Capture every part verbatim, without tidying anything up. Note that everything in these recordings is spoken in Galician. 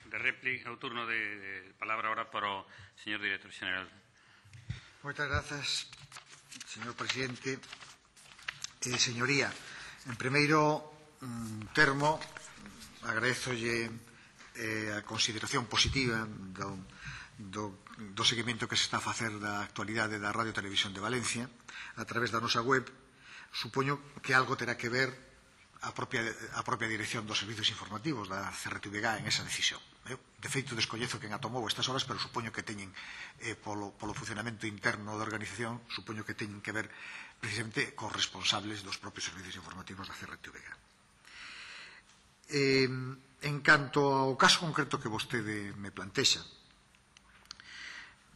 de réplica, o turno de, de palabra ahora para o señor director xeral. Moitas grazas, señor presidente. Eh, señoría, en primeiro mm, termo, agradezolle eh, a consideración positiva do, do, do seguimento que se está a facer da actualidade da Radio Televisión de Valencia a través da nosa web. Supoño que algo terá que ver a propia, a propia dirección dos servicios informativos da C R T V G en esa decisión. Eu, de feito, descoñezo quen a tomou estas horas, pero supoño que teñen, eh, polo, polo funcionamento interno da organización, supoño que teñen que ver precisamente cos responsables dos propios servicios informativos da C R T V G. Eh, en canto ao caso concreto que vostede me plantexa,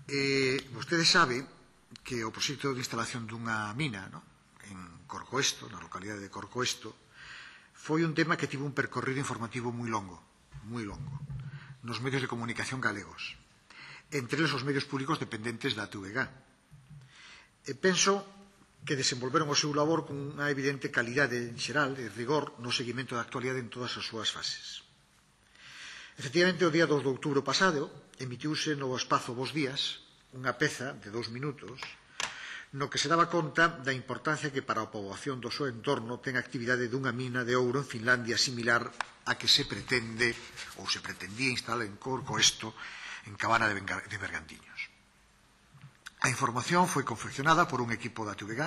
eh, vostede sabe que o proxecto de instalación dunha mina, no? En Corcoesto, na localidade de Corcoesto, foi un tema que tivo un percorrido informativo moi longo, moi longo, nos medios de comunicación galegos, entre eles os medios públicos dependentes da T V G. E penso que desenvolveron o seu labor con unha evidente calidade en xeral e rigor no seguimento da actualidade en todas as súas fases. Efectivamente, o día dos de outubro pasado, emitiuse no espazo Bos Días unha peza de dous minutos no que se daba conta da importancia que para a poboación do seu entorno ten a actividade dunha mina de ouro en Finlandia similar a que se pretende ou se pretendía instalar en Corcoesto, en Cabana de Bergantiños. A información foi confeccionada por un equipo da T V G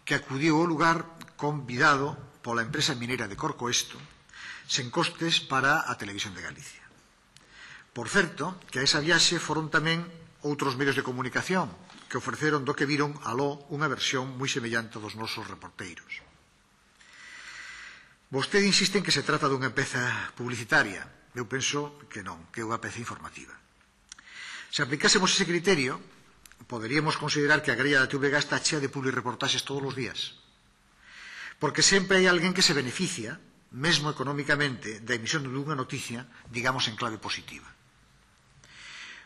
que acudiu ao lugar convidado pola empresa mineira de Corcoesto sen costes para a Televisión de Galicia. Por certo, que a esa viaxe foron tamén outros medios de comunicación que ofreceron do que viron aló unha versión moi semellante dos nosos reporteiros. Vostede insiste en que se trata dunha peza publicitaria. Eu penso que non, que é unha peza informativa. Se aplicásemos ese criterio, poderíamos considerar que a grella da T V G está chea de publireportaxes todos os días. Porque sempre hai alguén que se beneficia, mesmo económicamente, da emisión dunha noticia, digamos, en clave positiva.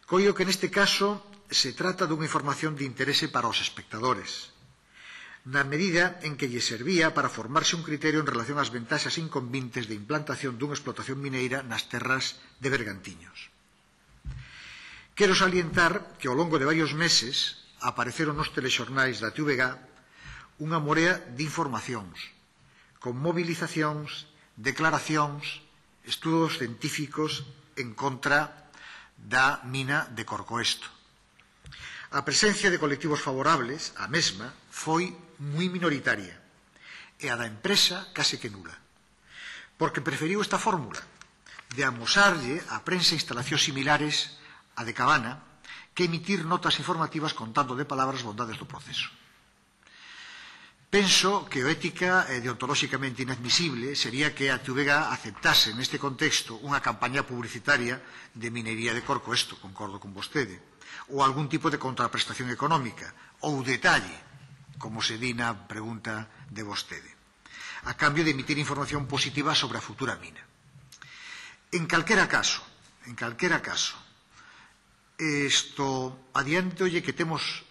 Coio que neste caso se trata dunha información de interese para os espectadores, na medida en que lle servía para formarse un criterio en relación ás ventaxas inconvintes de implantación dunha explotación mineira nas terras de Bergantiños. Quero salientar que ao longo de varios meses apareceron nos telexornais da T V G unha morea de informacións, con movilizacións, declaracións, estudos científicos en contra da mina de Corcoesto. A presencia de colectivos favorables, a mesma, foi moi minoritaria e a da empresa case que nula, porque preferiu esta fórmula de amosarlle a prensa instalacións similares a de Cabana que emitir notas informativas contando de palabras bondades do proceso. Penso que o ética e deontolóxicamente inadmisible sería que a T V G aceptase neste contexto unha campaña publicitaria de minería de Corcoesto, concordo con vostede, ou algún tipo de contraprestación económica, ou detalle, como se di na pregunta de vostede, a cambio de emitir información positiva sobre a futura mina. En calquera caso, en calquera caso, isto adiantolle que temos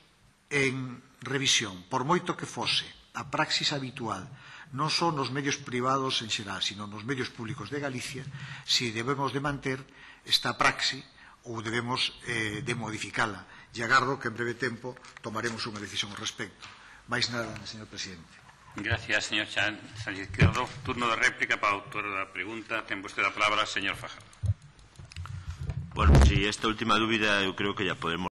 en revisión, por moito que fose a praxis habitual, non só nos medios privados en xeral, sino nos medios públicos de Galicia, si debemos de manter esta praxis ou debemos eh, de modificala. E agardo que en breve tempo tomaremos unha decisión ao respecto. Mais nada, señor presidente. Gracias, señor Sánchez Izquierdo. Turno de réplica para o autor da pregunta. Ten vostede a palabra, señor Fajardo. Bueno, si esta última dúbida eu creo que ya podemos